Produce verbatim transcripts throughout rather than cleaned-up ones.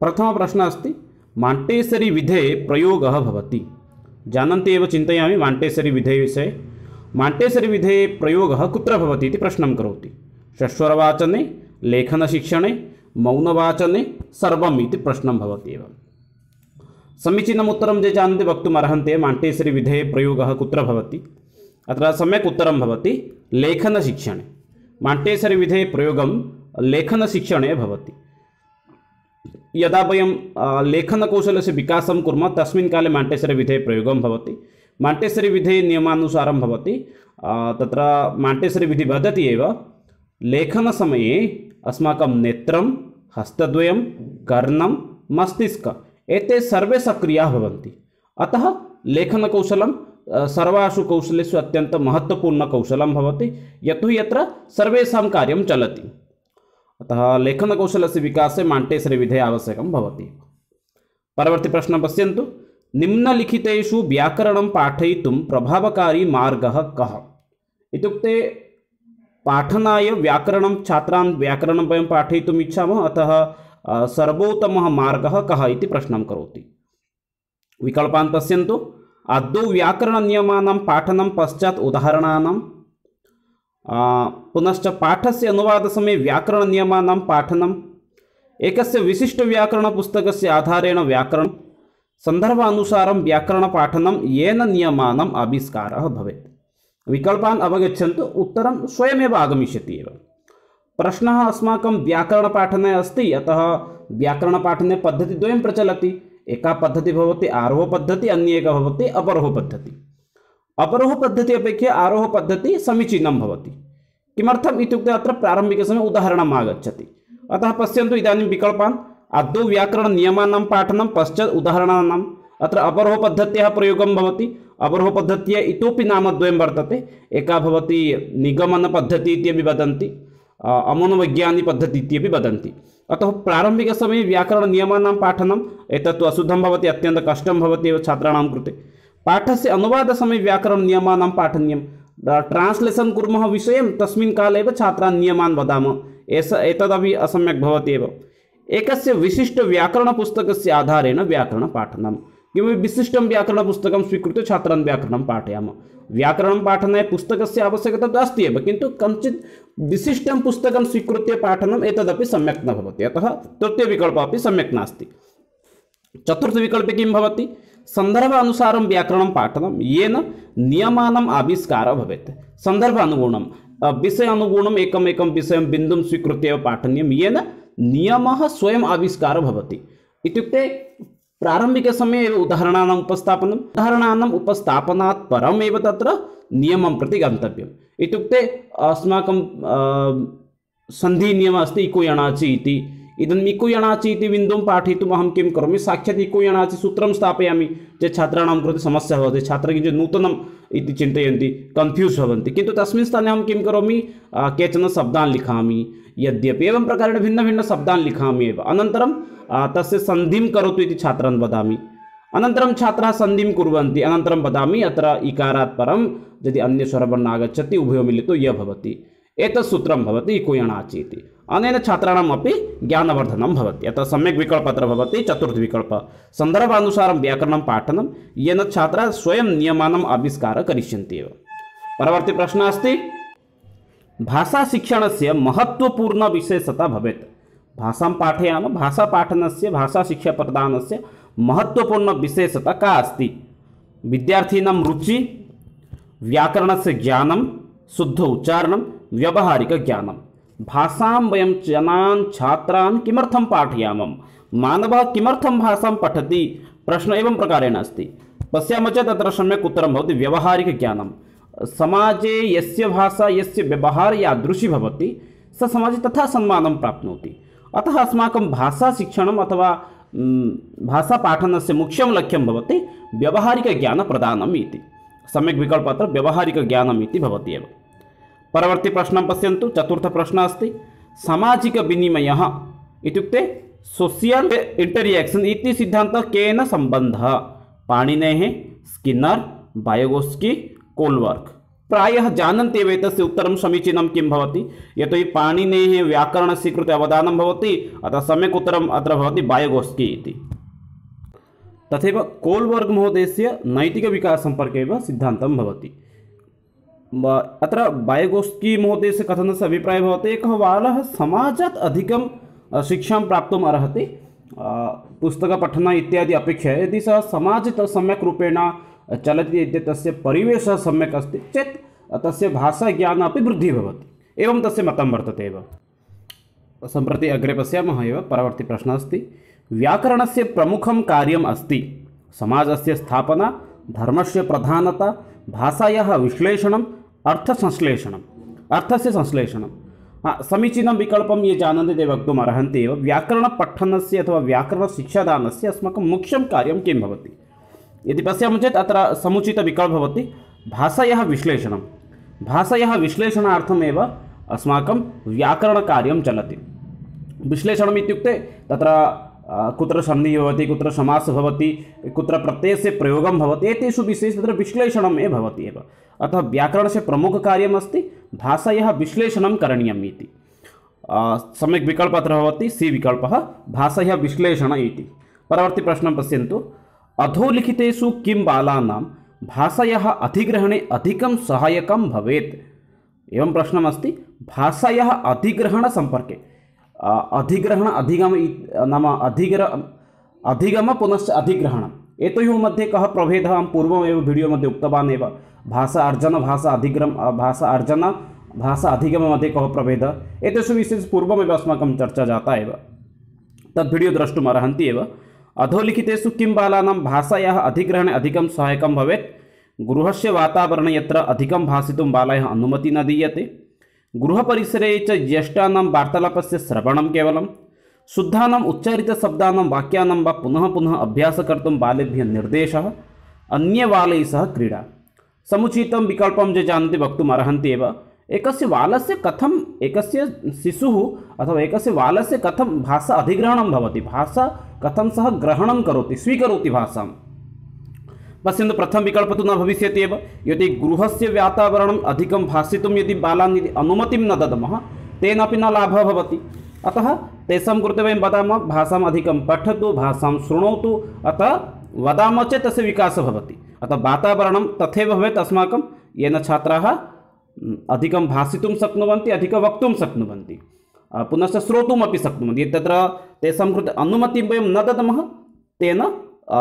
प्रथम प्रश्न अस्ति माण्टेसरी विधे प्रयोगः भवति। जानन्ति एव चिन्तयामि माण्टेसरी विधे विषये। माण्टेसरी विधे प्रयोगः कुत्र भवति इति प्रश्नं करोति। षट्स्वरवाचने, लेखनशिक्षणे, मौनवाचने, सर्वम् इति प्रश्नं भवति एव। समीचीनम् उत्तरं ये जानन्ति वक्तुम् अर्हन्ति माण्टेसरी विधे प्रयोगः कुत्र भवति। अत्र सम्यक् उत्तरं भवति लेखनशिक्षणे। माण्टेसरी विधे प्रयोगं लेखनशिक्षणे भवति। यदा वयं लेखनकौशलस्य विकासं कुर्मः तस्मिन् काले माण्टेसरी विधे प्रयोगं भवति। माण्टेसरी विधे नियमानुसारं भवति। तत्र माण्टेसरी विधि वदति एव लेखनसमये अस्माकं नेत्रं, हस्तद्वयं, कर्णं, मस्तिष्कम् एते सर्वे सक्रियाः भवन्ति। अतः लेखनकौशलं सर्वासु कौशलेषु अत्यन्तं महत्त्वपूर्णकौशलं भवति, यतोहि यत्र सर्वेषां कार्यं चलति। अतः लेखनकौशलस्य विकासे माण्टेसरी विधे आवश्यकं भवति। परवर्ती प्रश्नं पश्यन्तु। निम्नलिखितेषु व्याकरणं पाठयितुं प्रभावकारी मार्गः कः? इत्युक्ते पाठनाय व्याकरणं छात्रान् व्याकरणं वयं पाठयितुम् इच्छामः, अतः सर्वोत्तमः मार्गः कः इति प्रश्नं करोति। विकल्पान् पश्यन्तु। आदौ व्याकरणनियमानां पाठनं, पश्चात् उदाहरणानां, पुनश्च पाठस्य अनुवादसमये व्याकरणनियमानां पाठनं, एकस्य विशिष्टव्याकरणपुस्तकस्य आधारेण व्याकरणं, सन्दर्भानुसारं व्याकरणपाठनं, येन नियमानाम् आविष्कारः भवेत्। विकल्पान् अवगच्छन्तु, उत्तरं स्वयमेव आगमिष्यति एव। प्रश्नः अस्माकं व्याकरणपाठने अस्ति, अतः व्याकरणपाठने पद्धतिद्वयं प्रचलति। एका पद्धतिः भवति आरोहपद्धतिः, अन्य एका भवति अवरोहपद्धतिः। अवरोहपद्धतिः अपेक्षया आरोहपद्धतिः समीचीनं भवति। किमर्थम् इत्युक्ते अत्र प्रारम्भिकसमये उदाहरणम् आगच्छति। अतः पश्यन्तु इदानीं विकल्पान्। आदौ व्याकरणनियमानां पाठनं, पश्चात् उदाहरणानाम्। अत्र अवरोहपद्धत्याः प्रयोगं भवति। अवरोहपद्धत्याः इतोपि नामद्वयं वर्तते। एका भवति निगमनपद्धतिः इत्यपि वदन्ति, अमनोवैज्ञानिकपद्धतिः इत्यपि वदन्ति। अतः प्रारम्भिकसमये व्याकरणनियमानां पाठनम् एतत्तु अशुद्धं भवति, अत्यन्तं कष्टं भवति एव छात्राणां कृते। पाठस्य अनुवादसमये व्याकरणनियमानां पाठनीयं। ट्रान्स्लेशन् कुर्मः विषयं, तस्मिन् काले एव छात्रान् नियमान् वदामः। एष एतदपि असम्यक् भवति एव। एकस्य विशिष्टव्याकरणपुस्तकस्य आधारेण व्याकरणपाठनं। किमपि विशिष्टं व्याकरणपुस्तकं स्वीकृत्य छात्रान् व्याकरणं पाठयामः। व्याकरणं पाठनाय पुस्तकस्य आवश्यकता तु अस्ति एव, किन्तु कञ्चित् विशिष्टं पुस्तकं स्वीकृत्य पाठनम् एतदपि सम्यक् न भवति। अतः तृतीयविकल्पः अपि सम्यक् नास्ति। चतुर्थविकल्पे किं भवति? सन्दर्भानुसारं व्याकरणं पाठनं, येन नियमानाम् आविष्कारः भवेत्। सन्दर्भानुगुणं, विषयानुगुणम् एकमेकं विषयं बिन्दुं स्वीकृत्य एव पाठनीयं, येन नियमः स्वयम् आविष्कारः भवति। इत्युक्ते प्रारम्भिकसमये एव उदाहरणानाम् उपस्थापनम्, उदाहरणानाम् उपस्थापनात् परमेव तत्र नियमं प्रति गन्तव्यम्। इत्युक्ते अस्माकं सन्धिनियमः अस्ति इको यणाचि इति। इदम् इको यणाचि इति बिन्दुं पाठयितुम् अहं किं करोमि? साक्षात् इको यणाचि सूत्रं स्थापयामि। चेत् छात्राणां कृते समस्या भवति। छात्राः किञ्चित् नूतनम् इति चिन्तयन्ति, कन्फ्यूस् भवन्ति। किन्तु तस्मिन् स्थाने अहं किं करोमि? केचन शब्दान् लिखामि। यद्यपि एवं प्रकारेण भिन्नभिन्नशब्दान् लिखामि एव। अनन्तरं तस्य सन्धिं करोतु इति छात्रान् वदामि। अनन्तरं छात्राः सन्धिं कुर्वन्ति। अनन्तरं वदामि अत्र इकारात् परं यदि अन्यस्वरवर्णः आगच्छति उभयो मिलितो य भवति। एतत् सूत्रं भवति इको यणाचि इति। अनेन छात्राणाम् अपि ज्ञानवर्धनं भवति। अतः सम्यक् विकल्पः अत्र भवति चतुर्थविकल्पः। सन्दर्भानुसारं व्याकरणं पाठनं, येन छात्राः स्वयं नियमानाम् आविष्कारः करिष्यन्ति एव। परवर्ती प्रश्नः अस्ति भाषाशिक्षणस्य महत्त्वपूर्णविशेषता भवेत्। भाषां पाठयामः, भाषापाठनस्य, भाषाशिक्षाप्रदानस्य महत्त्वपूर्णविशेषता का अस्ति? विद्यार्थिनां रुचि, व्याकरणस्य ज्ञानं, शुद्ध उच्चारणं, व्यावहारिकज्ञानं। भाषां वयं जनान् छात्रान् किमर्थं पाठयामः? मानवः किमर्थं भाषां पठति? प्रश्नः एवं प्रकारेण अस्ति। पश्यामः चेत् तत्र सम्यक् उत्तरं भवति व्यावहारिकज्ञानं। समाजे यस्य भाषा, यस्य व्यवहारः यादृशी भवति, स समाजे तथा सम्मानं प्राप्नोति। अतः अस्माकं भाषाशिक्षणम् अथवा भाषापाठनस्य मुख्यं लक्ष्यं भवति व्यावहारिकज्ञानप्रदानम् इति। सम्यक् विकल्पः अत्र व्यावहारिकज्ञानम् इति भवति एव। परवर्ती प्रश्नं पश्यन्तु। चतुर्थप्रश्नः अस्ति सामाजिकविनिमयः इत्युक्ते सोशियल् इंटरियाक्षन् इति सिद्धान्तः केन सम्बन्धः? पाणिनेः, स्किन्नर्, बायगोस्की, कोल्वर्क्। प्रायः जानन्ति एव एतस्य उत्तरं समीचीनं किं भवति, यतोहि पाणिनेः व्याकरणस्य कृते अवदानं भवति, अतः सम्यक् उत्तरम् अत्र भवति बायगोस्की इति। तथैव कोल्बर्ग् महोदयस्य नैतिकविकाससम्पर्के एव सिद्धान्तं भवति। अत्र बायगोस्की महोदयस्य कथनस्य अभिप्रायः भवति, एकः बालः समाजात् अधिकं शिक्षां प्राप्तुम् अर्हति पुस्तकपठन इत्यादि अपेक्षया। यदि सः समाजे सम्यक् रूपेण चलति, यदि तस्य परिवेशः सम्यक् अस्ति चेत् तस्य भाषाज्ञानम् अपि वृद्धिः भवति। एवं तस्य मतं वर्तते एव। सम्प्रति अग्रे पश्यामः एव। परवर्ती प्रश्नः अस्ति, व्याकरणस्य प्रमुखं कार्यम् अस्ति समाजस्य स्थापना, धर्मस्य प्रधानता, भाषायाः विश्लेषणम्, अर्थसंश्लेषणम्। अर्थस्य संश्लेषणं समीचीनं विकल्पं ये जानन्ति ते वक्तुम् अर्हन्ति एव। व्याकरणपठनस्य अथवा व्याकरणशिक्षादानस्य अस्माकं मुख्यं कार्यं किं भवति यदि पश्यामः चेत् अत्र समुचितविकल्पः भवति भाषायाः विश्लेषणं। भाषायाः विश्लेषणार्थमेव अस्माकं व्याकरणकार्यं चलति। विश्लेषणम् इत्युक्ते तत्र कुत्र सन्धिः भवति, कुत्र समासः भवति, कुत्र प्रत्ययस्य प्रयोगं भवति, एतेषु विषयेषु तत्र विश्लेषणम् एव भवति एव। अतः व्याकरणस्य प्रमुखकार्यमस्ति भाषायाः विश्लेषणं करणीयम् इति। सम्यक् विकल्पः अत्र भवति सी विकल्पः, भाषायाः विश्लेषण इति। परवर्ती प्रश्नं पश्यन्तु, अधोलिखितेषु किं बालानां भाषायाः अधिग्रहणे अधिकं सहायकं भवेत्। एवं प्रश्नमस्ति भाषायाः अधिग्रहणसम्पर्के। अधिग्रहण अधिगम नाम अधिग्र अधिगम पुनश्च अधिग्रहणम्, एतयोः मध्ये कः प्रभेदः अहं पूर्वमेव वीडियो मध्ये उक्तवान् एव। भाषा अर्जन, भाषा अधिग्रम, भाषा अर्जन, भाषा अधिगम मध्ये कः प्रभेदः, एतेषु विषयेषु पूर्वमेव अस्माकं चर्चा जाता एव। तद् वीडियो द्रष्टुम् अर्हन्ति एव। अधोलिखितेषु किं बालानां भाषायाः अधिग्रहणे अधिकं सहायकं भवेत्। गृहस्य वातावरणे यत्र अधिकं भाषितुं बालाय अनुमतिः न दीयते। गृहपरिसरे च ज्येष्ठानां वार्तालापस्य श्रवणं केवलं। शुद्धानाम् उच्चारितशब्दानां वाक्यानां वा पुनः पुनः अभ्यासः कर्तुं बालेभ्यः निर्देशः। अन्यबालैः सह क्रीडा। समुचितं विकल्पं ये जानन्ति वक्तुम् अर्हन्ति एव। एकस्य बालस्य कथम् एकस्य शिशुः अथवा एकस्य बालस्य कथं भाषा अधिग्रहणं भवति, भाषा कथं सः ग्रहणं करोति, स्वीकरोति भाषां। पश्यन्तु, प्रथम विकल्पः तु न भविष्यति एव। यदि गृहस्य वातावरणम् अधिकं भाषितुं यदि बालान् यदि अनुमतिं न दद्मः तेनापि न लाभः भवति। अतः तेषां कृते वयं वदामः भाषाम् अधिकं पठतु, भाषां शृणोतु, अतः वदामः चेत् तस्य विकासः भवति। अतः वातावरणं तथैव भवेत् अस्माकं, येन छात्राः अधिकं भाषितुं शक्नुवन्ति, अधिकं वक्तुं शक्नुवन्ति, पुनश्च श्रोतुमपि शक्नुवन्ति। यदि तत्र तेषां कृते अनुमतिं वयं न दद्मः तेन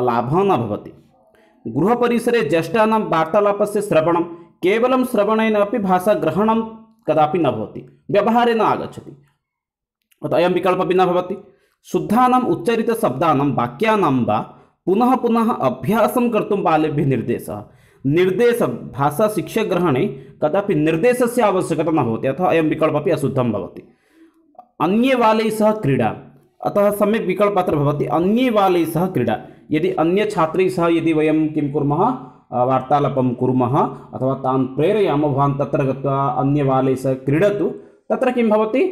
लाभः न भवति। गृहपरिसरे ज्येष्ठानां वार्तालापस्य श्रवणं, केवलं श्रवणेन अपि भाषाग्रहणं कदापि न भवति, व्यवहारे न आगच्छति, अतः अयं विकल्पः अपि न भवति। शुद्धानाम् उच्चारितशब्दानां वाक्यानां वा पुनः पुनः अभ्यासं कर्तुं बालेभ्यः निर्देशः। निर्देश भाषाशिक्षाग्रहणे कदापि निर्देशस्य आवश्यकता न भवति, अतः अयं विकल्पः अपि अशुद्धं भवति। अन्ये बालैः सह क्रीडा, अतः सम्यक् विकल्पः अत्र भवति अन्ये बालैः सह क्रीडा। यदि अन्य छात्रैः सह यदि वयं किं कुर्मः, वार्तालापं कुर्मः अथवा तान् प्रेरयामः, भवान् तत्र गत्वा अन्य बालैः सह क्रीडतु, तत्र किं भवति,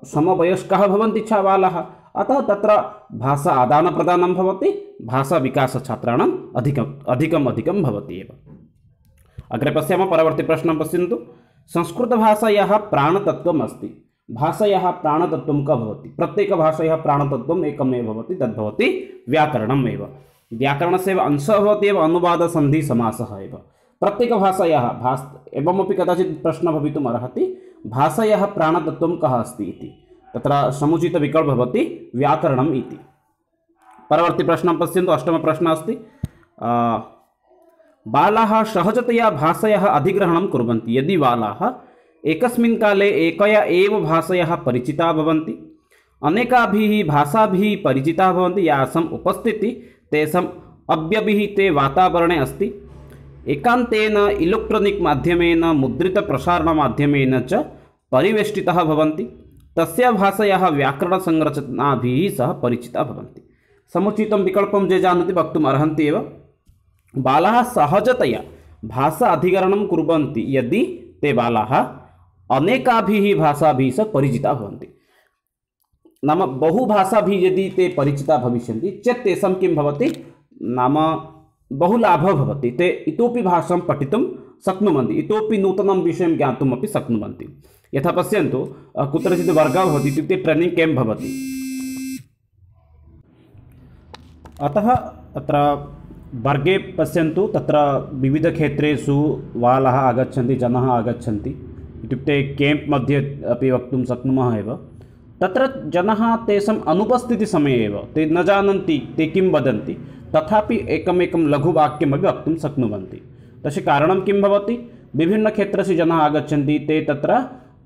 समवयस्काः भवन्ति च बालाः, अतः तत्र भाषा आदानप्रदानं भवति, भाषाविकासः छात्राणाम् अधिकम् अधिकम् अधिकं भवति एव। अग्रे पश्यामः, परवर्ती प्रश्नं पश्यन्तु। संस्कृतभाषायाः प्राणतत्त्वम् अस्ति। भाषायाः प्राणतत्त्वं कः भवति। प्रत्येकभाषायाः प्राणतत्त्वम् एकमेव भवति, तद्भवति व्याकरणम् एव। व्याकरणस्य एव अंशः भवति एव अनुवादसन्धिसमासः एव। प्रत्येकभाषायाः भाष एवमपि कदाचित् प्रश्नः भवितुम् अर्हति, भाषायाः प्राणतत्त्वं कः अस्ति इति। तत्र समुचितविकल्पः भवति व्याकरणम् इति। परवर्ती प्रश्नं पश्यन्तु, अष्टमप्रश्नः अस्ति। बालाः सहजतया भाषायाः अधिग्रहणं कुर्वन्ति। यदि बालाः एकस्मिन् काले एकया एव भाषायाः परिचिताः भवन्ति, अनेकाभिः भाषाभिः परिचिताः भवन्ति, यासाम् उपस्थितिः तेषाम् अव्यवहिते वातावरणे अस्ति, एकान्तेन इलेक्ट्रानिक् माध्यमेन मुद्रितप्रसारणमाध्यमेन च परिवेष्टिताः भवन्ति, तस्य भाषायाः व्याकरणसंरचनाभिः सह परिचिताः भवन्ति। समुचितं विकल्पं ये जानन्ति वक्तुम् अर्हन्ति एव। बालाः सहजतया भाषा अधिकरणं कुर्वन्ति यदि ते बालाः अनेकाभिः भाषाभिः सह परिचिताः भवन्ति। नाम बहुभाषाभिः यदि ते परिचिताः भविष्यन्ति चेत् तेषां किं भवति, नाम बहु लाभः भवति, ते इतोपि भाषां पठितुं शक्नुवन्ति, इतोपि नूतनं विषयं ज्ञातुमपि शक्नुवन्ति। यथा पश्यन्तु, कुत्रचित् वर्गः भवति, इत्युक्ते ट्रेनिङ्ग् केम्प् भवति। अतः अत्र वर्गे पश्यन्तु, तत्र विविधक्षेत्रेषु बालाः आगच्छन्ति, जनाः आगच्छन्ति, इत्युक्ते केम्प् मध्ये अपि वक्तुं शक्नुमः एव। तत्र जनाः तेषाम् अनुपस्थितिसमये एव ते न जानन्ति ते किं वदन्ति, तथापि एकमेकं लघुवाक्यमपि वक्तुं शक्नुवन्ति। तस्य कारणं किं भवति? विभिन्नक्षेत्रस्य जनाः आगच्छन्ति, ते तत्र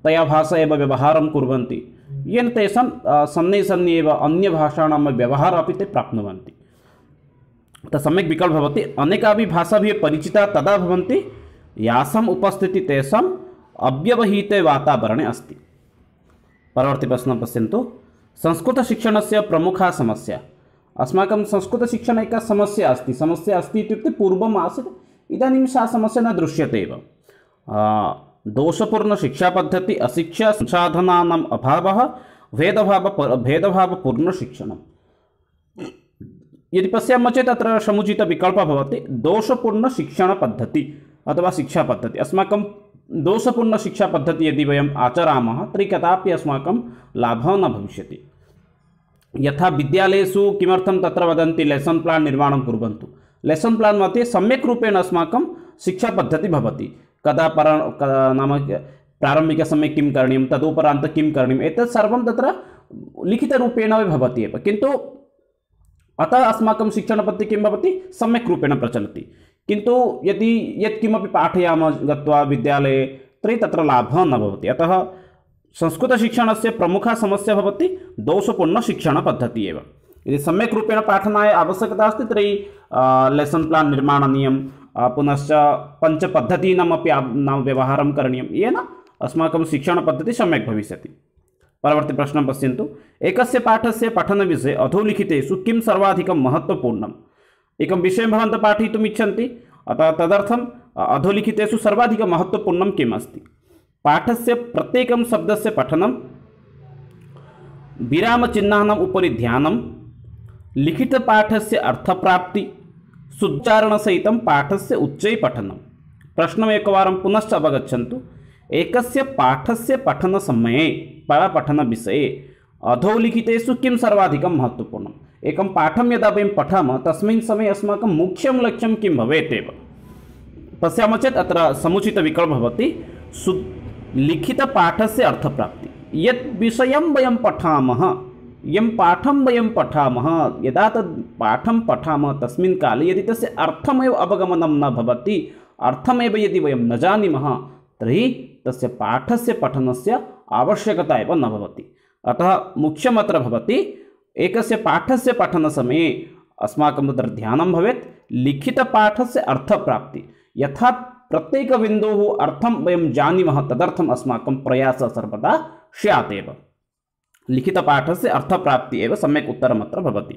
तया भाषा एव व्यवहारं कुर्वन्ति, येन तेषां सन्ने सन्ने एव अन्यभाषाणां व्यवहारः अपि ते प्राप्नुवन्ति। तत् सम्यक् विकल्पः भवति। अनेकाभिः भाषाभिः परिचिता तदा भवन्ति यासाम् उपस्थितिः तेषाम् अव्यवहिते वातावरणे अस्ति। परवर्ती प्रश्नं पश्यन्तु, संस्कृतशिक्षणस्य प्रमुखा समस्या। अस्माकं संस्कृतशिक्षणे एका समस्या अस्ति। समस्या अस्ति इत्युक्ते पूर्वम् आसीत्, इदानीं सा समस्या न दृश्यते एव। दोषपूर्णशिक्षापद्धतिः, अशिक्षा, संसाधनानाम् अभावः, भेदभाव भेदभावपूर्णशिक्षणं। यदि पश्यामः चेत् अत्र समुचितविकल्पः भवति दोषपूर्णशिक्षणपद्धतिः अथवा शिक्षापद्धतिः। अस्माकं दोषपूर्णशिक्षापद्धतिः यदि वयम् आचरामः तर्हि कदापि अस्माकं लाभः न भविष्यति। यथा विद्यालयेषु किमर्थं तत्र वदन्ति लेसन् प्लान् निर्माणं कुर्वन्तु। लेसन् प्लान् मध्ये सम्यक् रूपेण अस्माकं शिक्षापद्धतिः भवति। कदा पर नाम प्रारम्भिकसमये किं करणीयं, तदुपरान्तं किं करणीयम्, एतत् सर्वं तत्र लिखितरूपेण एव भवति एव। किन्तु अतः अस्माकं शिक्षणपद्धतिः किं भवति, सम्यक् रूपेण प्रचलति। किन्तु यदि यत्किमपि पाठयामः गत्वा विद्यालये तर्हि तत्र लाभः न भवति। अतः संस्कृतशिक्षणस्य प्रमुखा समस्या भवति दोषपूर्णशिक्षणपद्धतिः एव। यदि सम्यक् रूपेण पाठनाय आवश्यकता अस्ति तर्हि लेसन् प्लान् निर्माणनीयं, पुनश्च पञ्चपद्धतीनामपि नाम व्यवहारं करणीयं, येन अस्माकं शिक्षणपद्धतिः सम्यक् भविष्यति। परवर्ती प्रश्नं पश्यन्तु, एकस्य पाठस्य पठनविषये अधोलिखितेषु किं सर्वाधिकं महत्त्वपूर्णम्। एकं विषयं भवन्तः पाठयितुम् इच्छन्ति, अतः तदर्थम् अधोलिखितेषु सर्वाधिकं महत्त्वपूर्णं किम् अस्ति। पाठस्य प्रत्येकं शब्दस्य पठनं, विरामचिह्नानाम् उपरि ध्यानं, लिखितपाठस्य अर्थप्राप्ति, सुच्चारणसहितं पाठस्य उच्चैः पठनं। प्रश्नम् एकवारं पुनश्च अवगच्छन्तु। एकस्य पाठस्य पठनसमये पठनविषये अधोलिखितेषु किं सर्वाधिकं महत्त्वपूर्णम्। एकं पाठं यदा वयं पठामः तस्मिन् समये अस्माकं मुख्यं लक्ष्यं किं भवेत् एव। पश्यामः चेत् अत्र समुचितविकल्पः भवति सु लिखितपाठस्य अर्थप्राप्तिः। यत् विषयं वयं पठामः, यं पाठं वयं पठामः, यदा तद् पाठं पठामः तस्मिन् काले यदि तस्य अर्थमेव अवगमनं न भवति, अर्थमेव यदि वयं न जानीमः तर्हि तस्य पाठस्य पठनस्य आवश्यकता एव न भवति। अतः मुख्यमत्र भवति एकस्य पाठस्य पठनसमये अस्माकं तत्र ध्यानं भवेत् लिखितपाठस्य अर्थप्राप्तिः। यथा प्रत्येकबिन्दोः अर्थं वयं जानीमः तदर्थम् अस्माकं प्रयासः सर्वदा स्यात् एव। लिखितपाठस्य अर्थप्राप्तिः एव सम्यक् उत्तरमत्र भवति।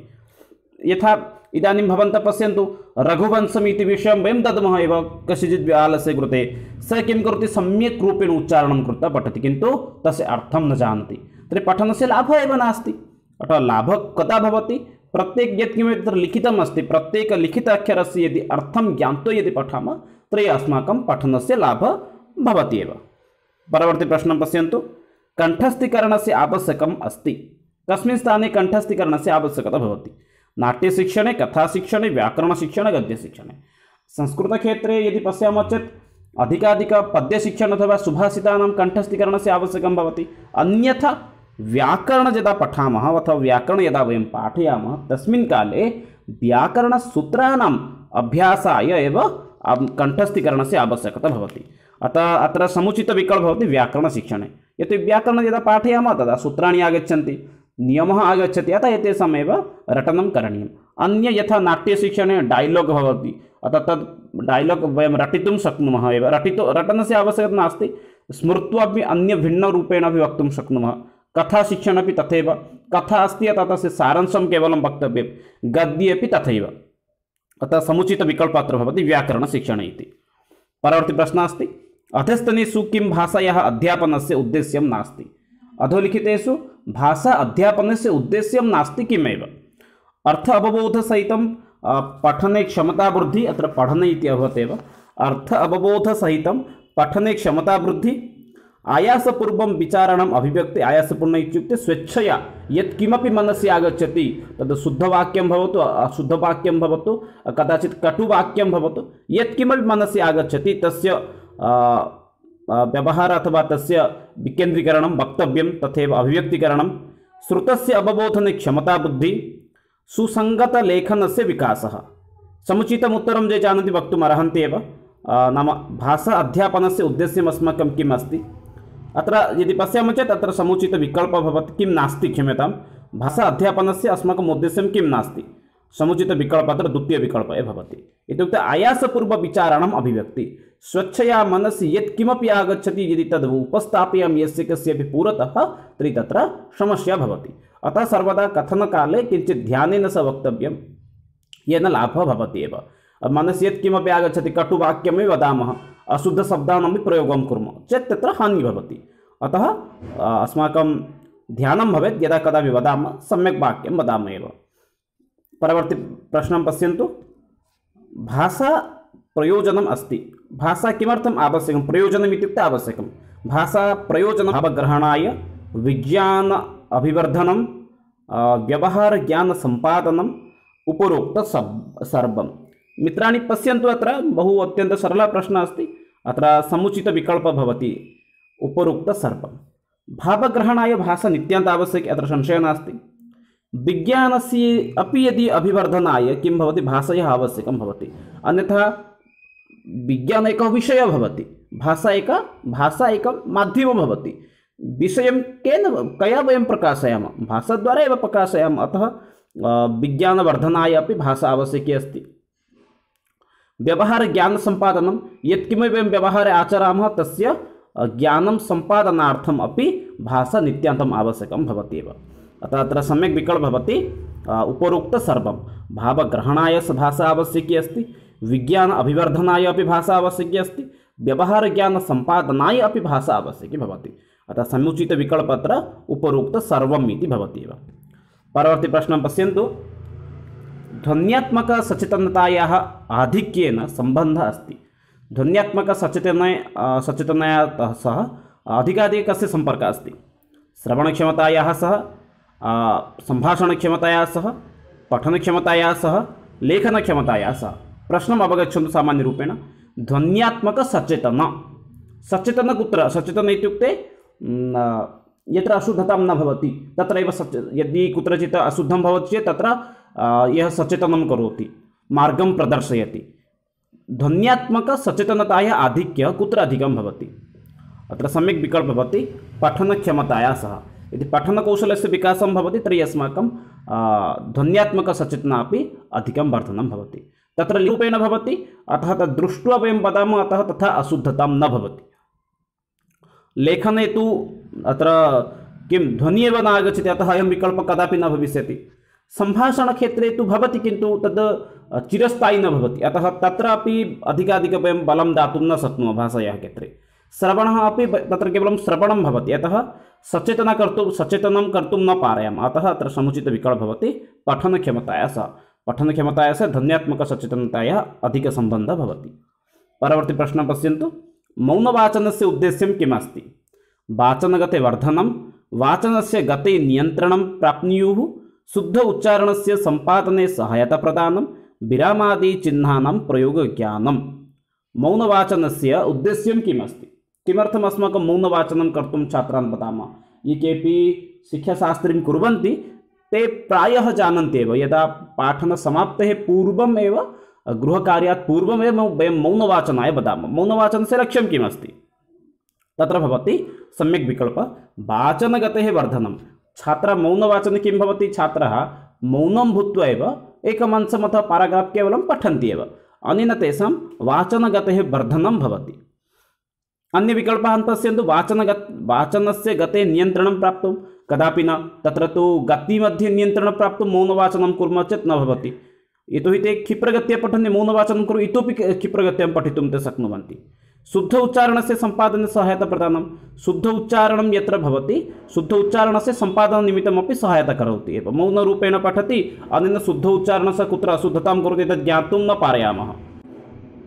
यथा इदानीं भवन्तः पश्यन्तु, रघुवंशम् इति विषयं वयं दद्मः एव कस्यचित् बालस्य कृते, स किं करोति, सम्यक् रूपेण उच्चारणं कृत्वा पठति, किन्तु तस्य अर्थं न जानाति, तर्हि पठनस्य लाभः एव नास्ति। अतः लाभः कदा भवति, प्रत्येक यत्किमपि तत्र लिखितम् अस्ति प्रत्येकलिखित अक्षरस्य यदि अर्थं ज्ञात्वा यदि पठामः तर्हि अस्माकं पठनस्य लाभः भवति एव। परवर्ती प्रश्नं पश्यन्तु, कण्ठस्थीकरणस्य आवश्यकम् अस्ति। कस्मिन् स्थाने कण्ठस्थीकरणस्य आवश्यकता भवति। नाट्यशिक्षणे, कथाशिक्षणे, व्याकरणशिक्षणे, गद्यशिक्षणे। संस्कृतक्षेत्रे यदि पश्यामः चेत् अधिकाधिकपद्यशिक्षण अथवा सुभाषितानां कण्ठस्थीकरणस्य आवश्यकं भवति। अन्यथा व्याकरण यदा पठामः अथवा व्याकरण यदा वयं पाठयामः तस्मिन् काले व्याकरणसूत्राणाम् अभ्यासाय एव कण्ठस्थीकरणस्य आवश्यकता भवति। अतः अत्र समुचितविकल्पः भवति व्याकरणशिक्षणे। यतो व्याकरणं यदा पाठयामः तदा सूत्राणि आगच्छन्ति, नियमः आगच्छति, अतः एतेषामेव रटनं करणीयम्। अन्य यथा नाट्यशिक्षणे डैलाग् भवति, अतः तद् डैलाग् वयं रटितुं शक्नुमः एव। रटितु रटनस्य आवश्यकता नास्ति, स्मृत्वापि अन्यभिन्नरूपेण अपि वक्तुं शक्नुमः। कथाशिक्षणे अपि तथैव, कथा अस्ति अतः तस्य सारांशं केवलं वक्तव्यं, गद्ये अपि तथैव। अतः समुचितविकल्पः अत्र भवति व्याकरणशिक्षणे इति। परवर्ती प्रश्नः अस्ति, अधस्तनेषु किं भाषायाः अध्यापनस्य उद्देश्यं नास्ति। अधोलिखितेषु भाषा अध्यापनस्य उद्देश्यं नास्ति किमेव। अर्थ अवबोधसहितं पठने क्षमतावृद्धिः, अत्र पठने इति अभवत् एव। अर्थ अवबोधसहितं पठने क्षमतावृद्धि आयासपूर्वं विचारणम् अभिव्यक्ति आयासपूर्ण इत्युक्ते स्वेच्छया यत्किमपि मनसि आगच्छति तद् शुद्धवाक्यं भवतु अशुद्धवाक्यं भवतु कदाचित् कटुवाक्यं भवतु यत्किमपि मनसि आगच्छति तस्य व्यवहारः अथवा तस्य विकेन्द्रीकरणं वक्तव्यं तथैव अभिव्यक्तिकरणं श्रुतस्य अवबोधने क्षमताबुद्धि सुसङ्गतलेखनस्य विकासः समुचितम् उत्तरं ये जानन्ति वक्तुम् अर्हन्ति एव नाम भाषा अध्यापनस्य उद्देश्यम् अस्माकं किम् अस्ति अत्र यदि पश्यामः चेत् अत्र समुचितविकल्पः भवति किं नास्ति क्षम्यतां भाषा अध्यापनस्य अस्माकम् उद्देश्यं किं नास्ति समुचितविकल्पः अत्र द्वितीयविकल्पः भवति इत्युक्ते आयासपूर्वविचारणम् अभिव्यक्ति स्वच्छया मनसि यत्किमपि आगच्छति यदि तद् उपस्थापयामि यस्य कस्यापि पुरतः तर्हि तत्र समस्या भवति अतः सर्वदा कथनकाले किञ्चित् ध्यानेन स वक्तव्यं येन लाभः भवति एव मनसि यत्किमपि आगच्छति कटुवाक्यमेव वदामः अशुद्धशब्दानामपि प्रयोगं कुर्मः चेत् तत्र हानिः भवति अतः अस्माकं ध्यानं भवेत् यदा कदापि वदामः सम्यक् वाक्यं वदामः एव परवर्ती प्रश्नं पश्यन्तु भाषा प्रयोजनम् अस्ति भाषा किमर्थम् आवश्यकं प्रयोजनम् इत्युक्ते आवश्यकं भाषा प्रयोजनं भावग्रहणाय विज्ञान अभिवर्धनं व्यवहारज्ञानसम्पादनम् उपरोक्त सर्वं मित्राणि पश्यन्तु अत्र बहु अत्यन्तं सरलः प्रश्नः अस्ति अत्र समुचितविकल्पः भवति उपरोक्त सर्वं भावग्रहणाय भाषा नित्यान्त आवश्यकी अत्र संशयः नास्ति विज्ञानस्य अपि यदि अभिवर्धनाय किं भवति भाषया आवश्यकं भवति अन्यथा विज्ञान एकः विषयः भवति भाषा एका भाषा एकं माध्यमं भवति विषयं केन कया वयं प्रकाशयामः भाषाद्वारा एव प्रकाशयामः अतः विज्ञानवर्धनाय अपि भाषा आवश्यकी अस्ति व्यवहारज्ञानसम्पादनं यत्किमपि वयं व्यवहारे आचरामः तस्य ज्ञानं सम्पादनार्थम् अपि भाषा नित्यान्तम् आवश्यकं भवति एव अतः अत्र सम्यक् विकल्पः भवति उपरोक्त सर्वं भावग्रहणाय भाषा आवश्यकी अस्ति विज्ञान अभिवर्धनाय अपि भाषा आवश्यकी अस्ति व्यवहारज्ञानसम्पादनाय अपि भाषा आवश्यकी भवति अतः समुचितविकल्पः अत्र उपरोक्त सर्वम् इति भवति एव परवर्ती प्रश्नं पश्यन्तु ध्वन्यात्मकसचेतनतायाः आधिक्येन सम्बन्धः अस्ति ध्वन्यात्मकसचेतनय सचेतनया सह अधिकाधिकं कस्य सम्पर्कः अस्ति श्रवणक्षमतायाः सह सम्भाषणक्षमतायाः सह पठनक्षमतायाः सह लेखनक्षमतायाः सह प्रश्नम् अवगच्छन्तु सामान्यरूपेण ध्वन्यात्मकसचेतन सचेतन कुत्र सचेतन इत्युक्ते यत्र अशुद्धतां न भवति तत्रैव सच यदि कुत्रचित् अशुद्धं भवति चेत् तत्र यः सचेतनं करोति मार्गं प्रदर्शयति ध्वन्यात्मकसचेतनतायाः आधिक्यं कुत्र अधिकं भवति अत्र सम्यक् विकल्पः भवति पठनक्षमतायाः सह यदि पठनकौशलस्य विकासं भवति तर्हि अस्माकं ध्वन्यात्मकसचेतना अपि अधिकं वर्धनं भवति तत्र रूपेण भवति अतः तद् दृष्ट्वा वयं वदामः अतः तथा अशुद्धतां न भवति लेखने तु अत्र किं ध्वनिः एव न आगच्छति अतः अयं विकल्पः कदापि न भविष्यति सम्भाषणक्षेत्रे तु भवति किन्तु तद् चिरस्थायी न भवति अतः तत्रापि अधिकाधिकं वयं बलं दातुं न शक्नुमः भाषायाः क्षेत्रे श्रवणः अपि तत्र केवलं श्रवणं भवति अतः सचेतना कर्तुं सचेतनं कर्तुं न पारयामः अतः अत्र समुचितविकल्पः भवति पठनक्षमतायाः सह पठनक्षमतायाः सह ध्वन्यात्मकसचेतनतायाः अधिकसम्बन्धः भवति परवर्ती प्रश्नं पश्यन्तु मौनवाचनस्य उद्देश्यं किम् अस्ति वाचनगते वर्धनं वाचनस्य गते नियन्त्रणं प्राप्नुयुः शुद्ध उच्चारणस्य सम्पादने सहायता प्रदानं विरामादिचिह्नानां प्रयोगज्ञानं मौनवाचनस्य उद्देश्यं किम् अस्ति किमर्थम् अस्माकं मौनवाचनं कर्तुं छात्रान् वदामः ये केपि शिक्षाशास्त्रीं कुर्वन्ति ते प्रायः जानन्ति एव यदा पाठनसमाप्तेः पूर्वम् एव गृहकार्यात् पूर्वमेव वयं मौनवाचनाय वदामः मौनवाचनस्य लक्ष्यं किम् अस्ति तत्र भवति सम्यक् विकल्पः वाचनगतेः वर्धनं छात्रः मौनवाचने किं भवति छात्रः मौनं भूत्वा एव एकमंशम् अथवा पाराग्राफ् केवलं पठन्ति एव अनेन तेषां वाचनगतेः वर्धनं भवति अन्यविकल्पान् पश्यन्तु वाचनगत वाचनस्य गते नियन्त्रणं प्राप्तुं कदापि न तत्र तु गतिमध्ये नियन्त्रणं प्राप्तुं मौनवाचनं कुर्मः चेत् न भवति यतोहि ते क्षिप्रगत्या पठन्ति मौनवाचनं कुरु इतोपि क्षिप्रगत्यां पठितुं ते शक्नुवन्ति शुद्ध उच्चारणस्य सम्पादने सहायता प्रदानं शुद्ध उच्चारणं यत्र भवति शुद्ध उच्चारणस्य सम्पादननिमित्तमपि सहायता करोति एव मौनरूपेण पठति अनेन शुद्ध उच्चारणस्य कुत्र अशुद्धतां करोति तत् ज्ञातुं न पारयामः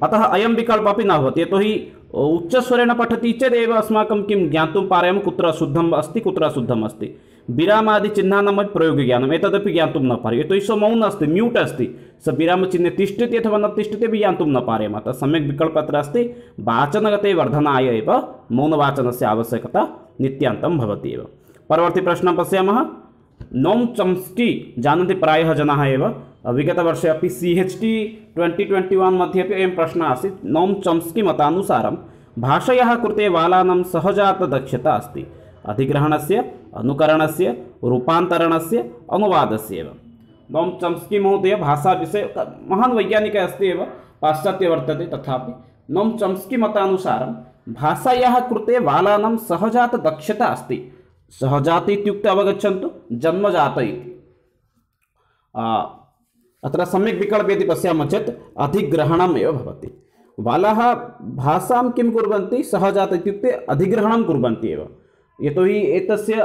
अतः अयं विकल्पः अपि न भवति, यतोहि उच्चस्वरेण पठति चेदेव अस्माकं किं ज्ञातुं पारयामः कुत्र अशुद्धम् अस्ति कुत्र अशुद्धम् अस्ति। विरामादिचिह्नानां प्रयोगज्ञानम् एतदपि ज्ञातुं न पार्यते, यतोहि सः मौन अस्ति, म्यूट् अस्ति, स विरामचिह्ने तिष्ठति अथवा न तिष्ठति अपि ज्ञातुं न पारयामः। अतः सम्यक् विकल्पः अत्र अस्ति, वाचनगते वर्धनाय एव मौनवाचनस्य आवश्यकता नित्यान्तं भवति एव। परवर्ती प्रश्नं पश्यामः। नोम चॉम्स्की जानन्ति प्रायः जनाः एव, विगतवर्षे अपि C H T twenty twenty one मध्ये अपि अयं प्रश्नः आसीत्। नोम चॉम्स्की मतानुसारं भाषायाः कृते बालानां सहजातदक्षता अस्ति अधिग्रहणस्य, अनुकरणस्य, रूपान्तरणस्य, अनुवादस्य एव। नोम चॉम्स्की महोदय भाषाविषये महान् वैज्ञानिकः अस्ति एव, पाश्चात्य वर्तते, तथापि नोम चॉम्स्की मतानुसारं भाषायाः कृते बालानां सहजातदक्षता अस्ति। सहजात इत्युक्ते अवगच्छन्तु, जन्मजात इति। अत्र सम्यक् विकल्पः यदि पश्यामः चेत् अधिग्रहणम् एव भवति। बालाः भाषां किं कुर्वन्ति, सहजात इत्युक्ते अधिग्रहणं कुर्वन्ति एव, यतोहि एतस्य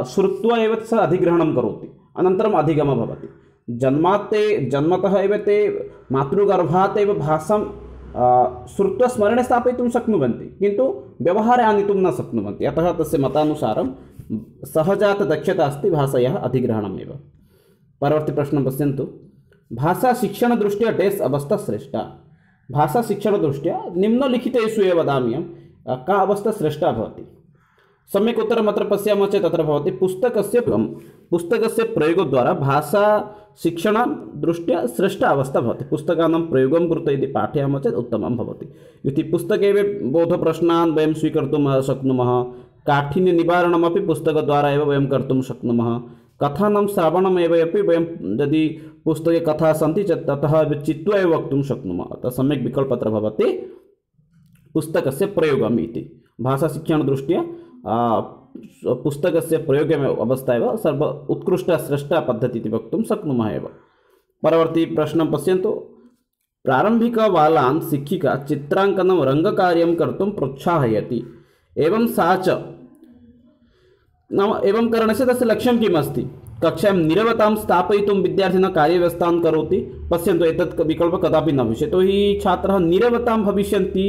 श्रुत्वा एव सः अधिग्रहणं करोति, अनन्तरम् अधिगमः भवति। जन्मात् ते जन्मतः एव ते मातृगर्भात् एव भाषां श्रुत्वा स्मरणे स्थापयितुं शक्नुवन्ति, किन्तु व्यवहारे आनेतुं न शक्नुवन्ति। अतः तस्य मतानुसारं सहजातदक्षता अस्ति भाषायाः अधिग्रहणम् एव। परवर्ती प्रश्नं पश्यन्तु। भाषाशिक्षणदृष्ट्या डेस् अवस्था श्रेष्ठा। भाषाशिक्षणदृष्ट्या निम्नलिखितेषु एव वदामि अहं का अवस्था श्रेष्ठा भवति। सम्यक् उत्तरम् अत्र पश्यामः चेत् अत्र भवति पुस्तकस्य पुस्तकस्य प्रयोगद्वारा भाषा शिक्षणदृष्ट्या श्रेष्ठा अवस्था भवति। पुस्तकानां प्रयोगं कृत्वा यदि पाठयामः चेत् उत्तमं भवति। इति पुस्तके बोधप्रश्नान् वयं स्वीकर्तुं शक्नुमः, काठिन्यनिवारणमपि पुस्तकद्वारा एव वयं कर्तुं शक्नुमः, कथानां श्रवणमेव अपि वयं यदि पुस्तके कथाः सन्ति चेत् ततः चित्वा एव वक्तुं शक्नुमः। अतः सम्यक् विकल्पः अत्र भवति पुस्तकस्य प्रयोगम् इति। भाषाशिक्षणदृष्ट्या पुस्तकस्य प्रयोगे अवस्था एव सर्व उत्कृष्टा श्रेष्ठा पद्धतिः इति वक्तुं शक्नुमः एव। परवर्ती प्रश्नं पश्यन्तु। प्रारम्भिकबालान् शिक्षिका चित्राङ्कनं रङ्गकार्यं कर्तुं प्रोत्साहयति, एवं सा च नाम एवं करणस्य तस्य लक्ष्यं किम् अस्ति। कक्षायां नीरवतां स्थापयितुं विद्यार्थिनः कार्यव्यवस्थां करोति। पश्यन्तु, एतत् विकल्पः कदापि न भविष्यति, यतोहि छात्राः नीरवतां भविष्यन्ति।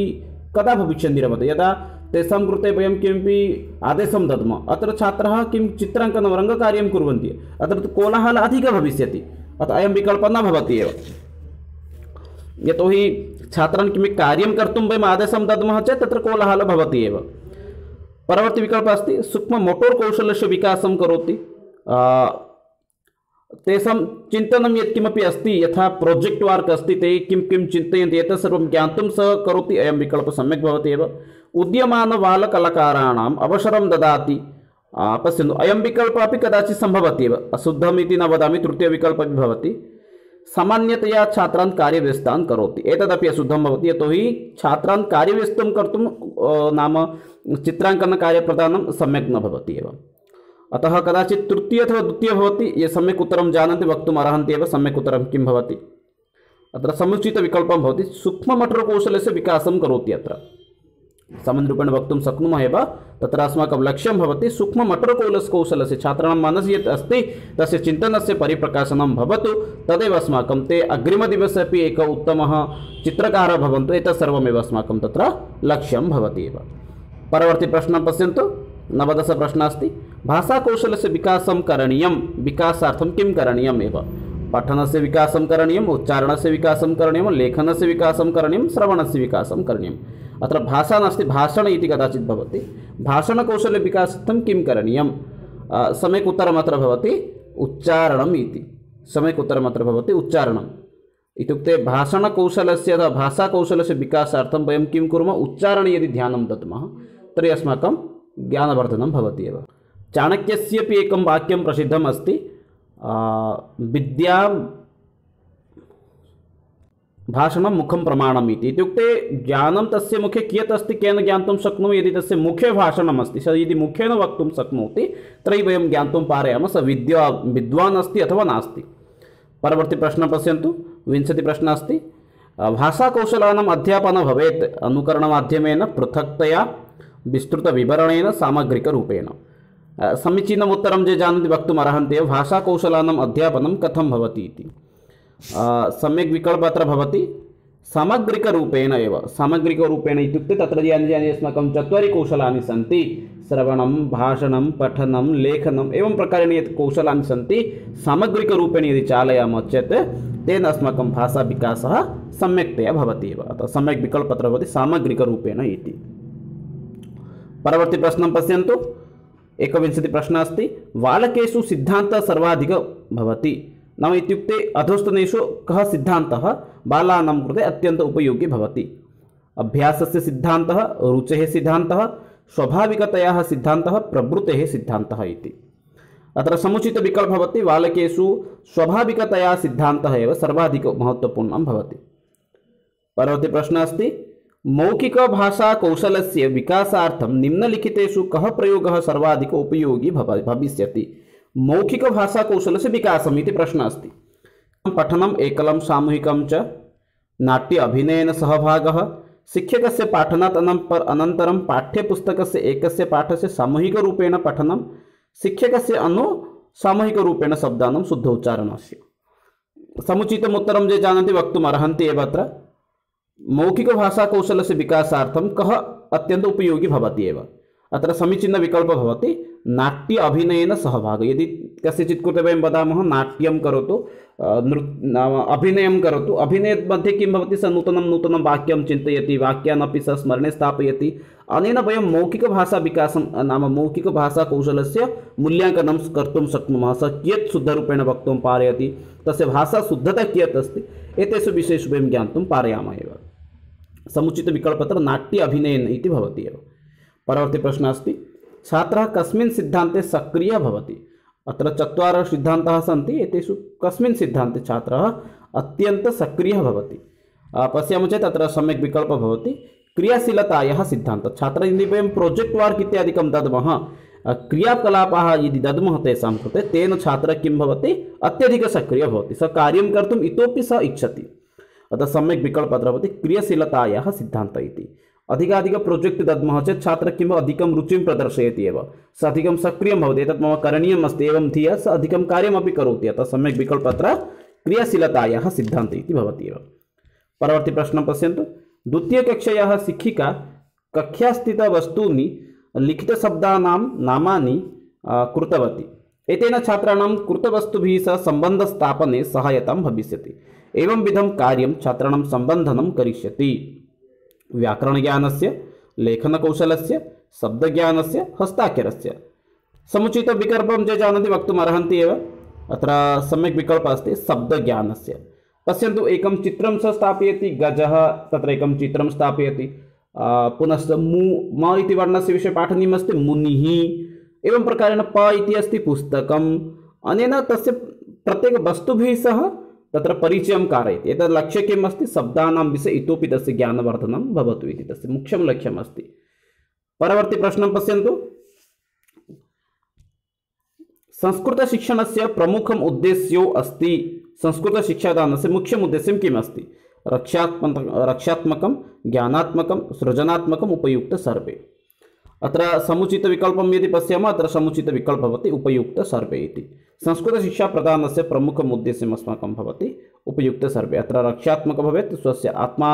कदा भविष्यन्ति नीरवता, यदा तेषां कृते वयं किमपि आदेशं दद्मः। अत्र छात्राः किं चित्राङ्कनं रङ्गकार्यं कुर्वन्ति, अत्र कोलाहलः अधिकः भविष्यति। अतः अयं विकल्पः न भवति एव, यतोहि छात्रान् किमपि कार्यं कर्तुं वयम् आदेशं दद्मः चेत् तत्र कोलाहलः भवति एव। परवर्ती विकल्पः अस्ति सूक्ष्म मोटोर् कौशलस्य विकासं करोति। तेषां चिन्तनं यत्किमपि अस्ति, यथा प्रोजेक्ट् वर्क् अस्ति, ते किं किं चिन्तयन्ति एतत् सर्वं ज्ञातुं सः करोति। अयं विकल्पः सम्यक् भवति एव। उद्यमानबालकलाकाराणाम् अवसरं ददाति। पश्यन्तु, अयं विकल्पः अपि कदाचित् सम्भवति एव, अशुद्धम् इति न वदामि, तृतीयविकल्पः अपि भवति। सामान्यतया छात्रान् कार्यव्यस्तान् करोति, एतदपि अशुद्धं भवति, यतोहि छात्रान् कार्यव्यस्तं कर्तुं नाम चित्राङ्कनकार्यप्रदानं सम्यक् न भवति एव। अतः कदाचित् तृतीय अथवा द्वितीय भवति। ये सम्यक् उत्तरं जानन्ति वक्तुम् अर्हन्ति एव सम्यक् उत्तरं किं भवति। अत्र समुचितविकल्पः भवति सूक्ष्ममोटरकौशलस्य विकासं करोति। अत्र सामान्यरूपेण वक्तुं शक्नुमः एव, तत्र अस्माकं लक्ष्यं भवति सूक्ष्ममोटरकौशलस्य छात्राणां मनसि यत् अस्ति तस्य चिन्तनस्य परिप्रकाशनं भवतु, तदेव अस्माकं ते अग्रिमदिवसे अपि एकः उत्तमः चित्रकारः भवन्तु, एतत् सर्वमेव अस्माकं तत्र लक्ष्यं भवति एव। परवर्ती प्रश्नं पश्यन्तु। नवदशप्रश्नः अस्ति। भाषाकौशलस्य विकासं करणीयं, विकासार्थं किं करणीयम् एव। पठनस्य विकासं करणीयम्, उच्चारणस्य विकासं करणीयं, लेखनस्य विकासं करणीयं, श्रवणस्य विकासं करणीयम्। अत्र भाषा नास्ति, भाषण इति कदाचित् भवति। भाषणकौशलविकासार्थं किं करणीयं, सम्यक् उत्तरम् अत्र भवति उच्चारणम् इति। सम्यक् उत्तरम् अत्र भवति उच्चारणम् इत्युक्ते भाषणकौशलस्य अथवा भाषाकौशलस्य विकासार्थं वयं किं कुर्मः, उच्चारणे यदि ध्यानं दद्मः तर्हि अस्माकं ज्ञानवर्धनं भवति एव। चाणक्यस्यपि एकं वाक्यं प्रसिद्धम् अस्ति, विद्या भाषणं मुखं प्रमाणम् इति। इत्युक्ते ज्ञानं तस्य मुखे कियत् अस्ति, केन ज्ञातुं शक्नोमि। यदि तस्य मुखे भाषणम् अस्ति, सः यदि मुखेन वक्तुं शक्नोति तर्हि वयं ज्ञातुं पारयामः सः विद्या विद्वान् अस्ति अथवा नास्ति। परवर्ती प्रश्नं पश्यन्तु। विंशतिप्रश्नः अस्ति। भाषाकौशलानाम् अध्यापनं भवेत् अनुकरणमाध्यमेन, पृथक्तया, विस्तृतविवरणेन, सामग्रिकरूपेण। समीचीनम् उत्तरं ये जानन्ति वक्तुम् अर्हन्ति एव। भाषाकौशलानाम् अध्यापनं कथं भवति इति। सम्यक् विकल्पः अत्र भवति सामग्रिकरूपेण एव सामग्रिकरूपेण इत्युक्ते तत्र यानि यानि अस्माकं चत्वारि कौशलानि सन्ति श्रवणं भाषणं पठनं लेखनम् एवं प्रकारेण यत् कौशलानि सन्ति सामग्रिकरूपेण यदि चालयामः चेत् तेन अस्माकं भाषाविकासः सम्यक्तया भवति एव। अतः सम्यक् विकल्पत्र भवति सामग्रिकरूपेण इति। परवर्ती प्रश्नं पश्यन्तु। एकविंशतिः प्रश्नः अस्ति बालकेषु सिद्धान्तः सर्वाधिकः भवति। नाम इत्युक्ते अधोस्तनेषु कः सिद्धान्तः बालानां कृते अत्यन्त उपयोगी भवति। अभ्यासस्य सिद्धान्तः, रुचेः सिद्धान्तः, स्वाभाविकतयाः सिद्धान्तः, प्रवृत्तेः सिद्धान्तः इति। अत्र समुचितविकल्पः भवति बालकेषु स्वाभाविकतया सिद्धान्तः एव सर्वाधिकं महत्त्वपूर्णं भवति। परवर्ती प्रश्नः अस्ति मौखिकभाषाकौशलस्य विकासार्थं निम्नलिखितेषु कः प्रयोगः सर्वाधिक उपयोगी भव भविष्यति। मौखिकभाषाकौशलस्य विकासम् इति प्रश्नः अस्ति। पठनम् एकलं सामूहिकं च, नाट्य अभिनयेन सहभागः, शिक्षकस्य पाठनात् अनन्तरं पाठ्यपुस्तकस्य एकस्य पाठस्य सामूहिकरूपेण पठनं, शिक्षकस्य अनु सामूहिकरूपेण शब्दानां शुद्धोच्चारणस्य। समुचितम् उत्तरं ये जानन्ति वक्तुम् अर्हन्ति एव। अत्र मौखिकभाषाकौशलस्य विकासार्थं कः अत्यन्त उपयोगी भवति एव। अत्र समीचीनविकल्पः भवति नाट्य अभिनयेन सहभागः। यदि कस्यचित् कृते वयं वदामः नाट्यं करोतु, नृ अभिनयं करोतु, अभिनयमध्ये किं भवति, स नूतनं नूतनं वाक्यं चिन्तयति, वाक्यानपि स स्मरणे स्थापयति। अनेन वयं मौखिकभाषाविकासं नाम मौखिकभाषाकौशलस्य मूल्याङ्कनं कर्तुं शक्नुमः। स कियत् शुद्धरूपेण वक्तुं पारयति, तस्य भाषाशुद्धता कियत् अस्ति, एतेषु विषयेषु वयं ज्ञातुं पारयामः एव। समुचितविकल्पत्र नाट्य अभिनयेन इति भवति एव। परवर्ती प्रश्नः अस्ति छात्रः कस्मिन् सिद्धान्ते सक्रियः भवति। अत्र चत्वारः सिद्धान्ताः सन्ति, एतेषु कस्मिन् सिद्धान्ते छात्रः अत्यन्तं सक्रियः भवति। पश्यामः चेत् अत्र सम्यक् विकल्पः भवति क्रियाशीलतायाः सिद्धान्तः। छात्रः यदि वयं प्रोजेक्ट् वर्क् इत्यादिकं दद्मः, क्रियाकलापाः यदि दद्मः तेषां कृते, तेन छात्रः किं भवति, अत्यधिकः सक्रियः भवति, स कार्यं कर्तुम् इतोपि सः इच्छति। अतः सम्यक् विकल्पः अत्र भवति क्रियाशीलतायाः सिद्धान्तः इति। अधिकाधिक प्रोजेक्ट् दद्मः चेत् छात्रः किम् अधिकं रुचिं प्रदर्शयति एव, स अधिकं सक्रियं भवति, एतत् मम करणीयम् अस्ति एवं धिया स अधिकं कार्यमपि करोति। अतः सम्यक् विकल्पः अत्र क्रियाशीलतायाः सिद्धान्तः इति भवति एव। परवर्ती प्रश्नं पश्यन्तु। द्वितीयकक्षायाः शिक्षिका कक्षास्थितवस्तूनि लिखितशब्दानां नामानि कृतवती। एतेन छात्राणां कृतवस्तुभिः सह सम्बन्धस्थापने सहायतां भविष्यति। एवं विधं कार्यं छात्राणां सम्बन्धनं करिष्यति। व्याकरणज्ञानस्य, लेखनकौशलस्य, शब्दज्ञानस्य, हस्ताक्षरस्य। समुचितविकल्पं ये जानन्ति वक्तुम् अर्हन्ति एव। अत्र सम्यक् विकल्पः अस्ति शब्दज्ञानस्य। पश्यन्तु एकं चित्रं सः स्थापयति, गजः तत्र एकं चित्रं स्थापयति, पुनश्च मु म इति वर्णस्य विषये पाठनीयमस्ति, मुनिः, एवं प्रकारेण प इति अस्ति पुस्तकम्। अनेन तस्य प्रत्येकवस्तुभिः सह तत्र परिचयं कारयति। एतत् लक्ष्यं किम् अस्ति, शब्दानां विषये इतोपि तस्य ज्ञानवर्धनं भवतु इति तस्य मुख्यं लक्ष्यम् अस्ति। परवर्ती प्रश्नं पश्यन्तु। संस्कृतशिक्षणस्य प्रमुखम् उद्देश्यो अस्ति। संस्कृतशिक्षादानस्य मुख्यम् उद्देश्यं किम् अस्ति? रक्षात्मक रक्षात्मकं, ज्ञानात्मकं, सृजनात्मकम्, उपयुक्त सर्वे। अत्र समुचितविकल्पं यदि पश्यामः, अत्र समुचितविकल्पः भवति उपयुक्त सर्वे इति। संस्कृतशिक्षाप्रदानस्य प्रमुखम् उद्देश्यम् अस्माकं भवति उपयुक्त सर्वे। अत्र रक्षात्मकः भवेत्, स्वस्य आत्मा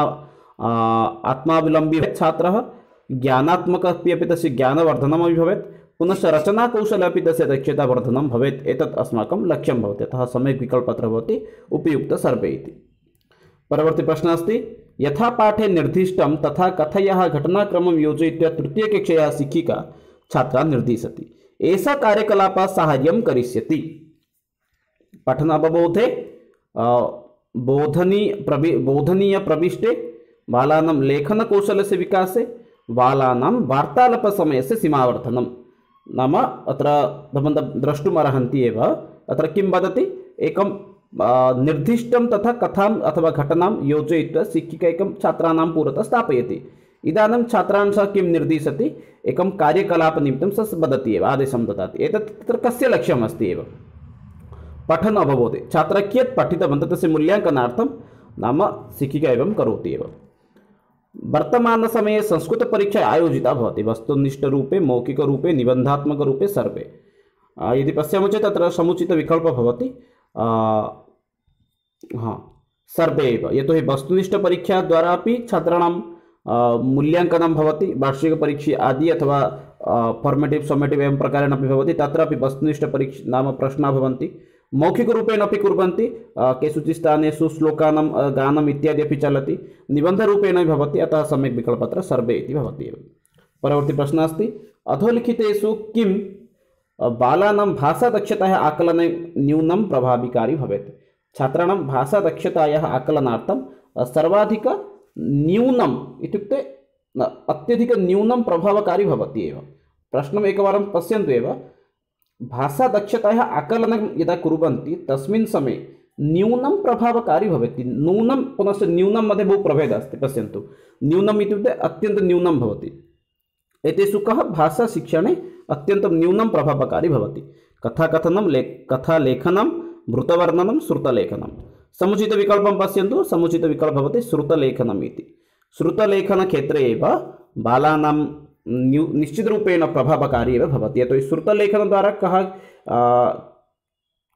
आत्मावलम्बी भवेत् छात्रः, ज्ञानात्मकः अपि तस्य ज्ञानवर्धनमपि भवेत्, पुनश्च रचनाकौशले अपि तस्य दक्षतावर्धनं भवेत्। एतत् अस्माकं लक्ष्यं भवति। अतः सम्यक् विकल्पः अत्र भवति उपयुक्त सर्वे इति। परवर्ती प्रश्नः अस्ति यथा पाठे निर्दिष्टं तथा कथयाः घटनाक्रमं योजयित्वा तृतीयकक्षायाः शिक्षिका छात्रान् निर्दिशति। एषा कार्यकलापः साहाय्यं करिष्यति। पठनावबोधे, बोधनी प्रवि बोधनीय प्रविष्टे, बालानां लेखनकौशलस्य विकासे, बालानां वार्तालापसमयस्य सीमावर्धनं। नाम अत्र भवन्तः द्रष्टुम् अर्हन्ति एव। अत्र किं वदति, एकं निर्दिष्टं तथा कथाम् अथवा घटनां योजयित्वा शिक्षिका एकं छात्राणां पुरतः स्थापयति। इदानीं छात्रान् सः किं निर्दिशति, एकं कार्यकलापनिमित्तं सः वदति एव, आदेशं ददाति। एतत् तत्र कस्य लक्ष्यम् अस्ति एव, पठन अवबोधे। छात्रः कियत् पठितवन्तः तस्य मूल्याङ्कनार्थं नाम शिक्षिका एवं करोति एव। वर्तमानसमये संस्कृतपरीक्षा आयोजिता भवति वस्तुनिष्ठरूपे, मौखिकरूपे, निबन्धात्मकरूपे सर्वे। यदि पश्यामः चेत् तत्र समुचितविकल्पः भवति हाँ सर्वे एव, यतोहि वस्तुनिष्ठपरीक्षाद्वारा अपि छात्राणां मूल्याङ्कनं भवति, वार्षिकपरीक्षा आदि अथवा फॉर्मेटिव समेटिव एवं प्रकारेण अपि भवति, तत्रापि वस्तुनिष्ठपरीक्षा नाम प्रश्नाः भवन्ति, मौखिकरूपेण अपि कुर्वन्ति, केषुचित् स्थानेषु श्लोकानां गानम् इत्यादि अपि चलति, निबन्धरूपेण अपि भवति, अतः सम्यक् विकल्पत्र सर्वे इति भवति एव। परवर्ती प्रश्नः अस्ति, अधोलिखितेषु किं बालानां भाषादक्षतायाः आकलने न्यूनं प्रभावकारी भवेत्? छात्राणां भाषादक्षतायाः आकलनार्थं सर्वाधिक न्यूनम् इत्युक्ते अत्यधिक न्यूनं प्रभावकारी भवति एव। प्रश्नम् एकवारं पश्यन्तु एव, भाषादक्षतायाः आकलनं यदा कुर्वन्ति तस्मिन् समये न्यूनं प्रभावकारी भवति, नूनं पुनश्च न्यूनं मध्ये बहु प्रभेदः अस्ति। पश्यन्तु, न्यूनम् इत्युक्ते अत्यन्तं न्यूनं भवति, एतेषु कः भाषाशिक्षणे अत्यन्तं न्यूनं प्रभावकारी भवति? कथाकथनं, ले कथालेखनं, मृतवर्णनं, श्रुतलेखनं। समुचितविकल्पं पश्यन्तु, समुचितविकल्पः भवति श्रुतलेखनम् इति। श्रुतलेखनक्षेत्रे एव बालानां न्यू निश्चितरूपेण प्रभावकारी एव भवति, यतोहि श्रुतलेखनद्वारा कः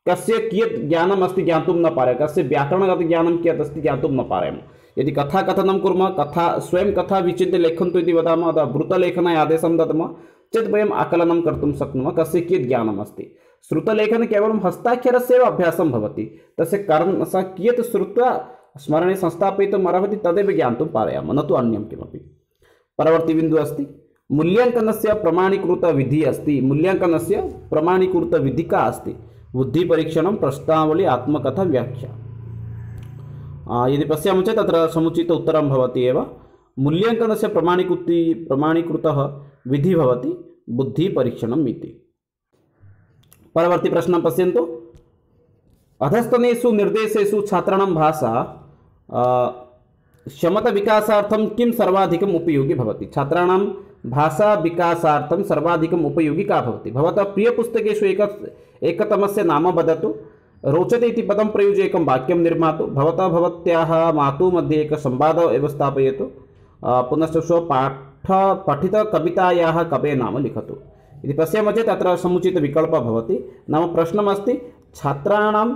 कस्य कियत् ज्ञानम् अस्ति ज्ञातुं न पारयामः, कस्य व्याकरणगत ज्ञानं कियत् अस्ति ज्ञातुं न पारयामः। यदि कथाकथनं कुर्मः, कथा स्वयं कथा विचिन्त्य लिखन्तु इति वदामः अथवा वृत्तलेखनाय आदेशं दद्मः चेत् वयम् आकलनं कर्तुं शक्नुमः कस्य कियत् ज्ञानम् अस्ति। श्रुतलेखने केवलं हस्ताक्षरस्य एव अभ्यासं भवति, तस्य कारणं सः कियत् श्रुत्वा स्मरणे संस्थापयितुम् अर्हति तदेव ज्ञातुं पारयामः, न तु अन्यं किमपि। परवर्ती बिन्दुः अस्ति, मूल्याङ्कनस्य प्रमाणीकृतविधिः अस्ति, मूल्याङ्कनस्य प्रमाणीकृतविधिः का अस्ति? बुद्धिपरीक्षणं, प्रश्नावली, आत्मकथा, व्याख्या। यदि पश्यामः चेत् तत्र समुचित उत्तरं भवति एव। मूल्याङ्कनस्य प्रमाणीकृति प्रमाणीकृतः विधिः भवति बुद्धिपरीक्षणम् इति। परवर्ती प्रश्नं पश्यन्तु, अधस्तनेषु निर्देशेषु छात्राणां भाषा क्षमता विकासार्थं किं सर्वाधिकम् उपयोगी भवति? छात्राणां भाषा विकासार्थं सर्वाधिकम् उपयोगी का भवति? भवतः प्रियपुस्तकेषु एक एकतमस्य नाम वदतु, रोचते इति पदं प्रयुज्य एकं वाक्यं निर्मातु, भवतः भवत्याः मातुः मध्ये एकः संवादः एव स्थापयतु, पुनश्च स्वपाठ पठितकवितायाः कवेः नाम लिखतु इति पश्यामः चेत् तत्र समुचितविकल्पः भवति। नाम प्रश्नमस्ति छात्राणां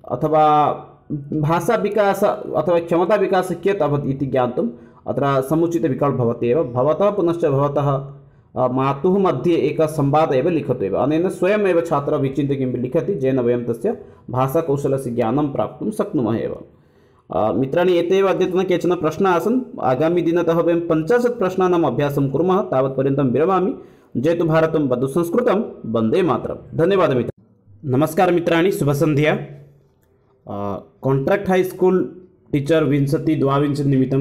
अथवा भाषाविकास अथवा क्षमताविकासः कियत् अभवत् इति ज्ञातुम् अत्र समुचितविकल्पः भवति एव। भवतः पुनश्च भवतः मातुः मध्ये एकः संवादः एव लिखतु एव। अनेन स्वयमेव छात्रः विचिन्त्य किमपि लिखति, येन वयं तस्य भाषाकौशलस्य ज्ञानं प्राप्तुं शक्नुमः एव। मित्राणि, एतेव अद्यतन केचन प्रश्नाः आसन्। आगामिदिनतः वयं पञ्चाशत् प्रश्नानाम् अभ्यासं कुर्मः। तावत्पर्यन्तं विरमामि। जयतु भारतं, वदतु संस्कृतं, वन्दे मातरम्। धन्यवादः मित्राणि। नमस्कारः मित्राणि, शुभसन्ध्या। काण्ट्राक्ट् हाईस्कूल् टीचर् विंशति द्वाविंशति निमित्तं